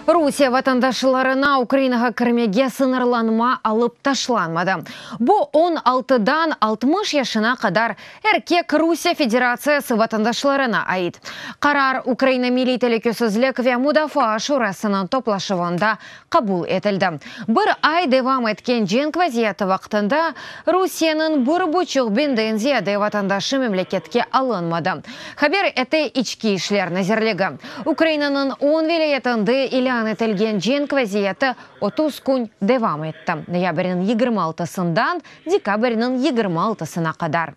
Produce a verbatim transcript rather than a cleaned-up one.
Rusiye vatandaşlarına Ukrainağa kirmege sıñırlanma alıp taşlanmadı. Bu on altıdan altmış yaşına qadar erkek Rusiye Federatsiyası vatandaşlarına ait. Qarar Ukraina Milliy telükesizlik ve mudafaa şurasınıñ toplaşuvında qabul etildi. Bir ay devam etken cenk vaziyeti vaqtında Rusiyeniñ bir buçuq biñden ziyade vatandaşı memleketke alınmadı, haber ete İçki işler nazirligi. Ukrainanıñ on vilâyetinde ilân etilgen cenk vaziyeti otuz kün devam etti. Noyabrniñ yigirmi altısından dekabrniñ yigirmi altısına qadar.